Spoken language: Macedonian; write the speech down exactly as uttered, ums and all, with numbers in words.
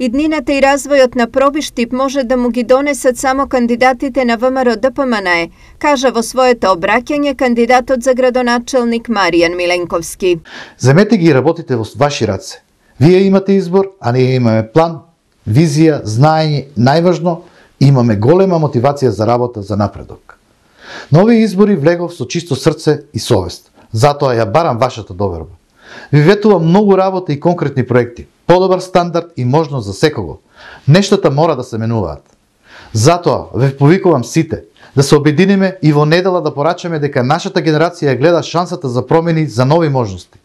Иднината и развојот на Пробиштип може да му ги донесат само кандидатите на ВМРО Д П М Н Е, кажа во своето обраќање кандидатот за градоначелник Маријан Миленковски. Земете ги и работите во ваши раце. Вие имате избор, а ние имаме план, визија, знаење, најважно, имаме голема мотивација за работа за напредок. На овие избори влегов со чисто срце и совест. Затоа ја барам вашата доверба. Ви ветувам многу работа и конкретни проекти, подобар стандард и можност за секого. Нештата мора да се менуваат. Затоа ве повикувам сите да се обединиме и во недела да порачаме дека нашата генерација гледа шансата за промени, за нови можности.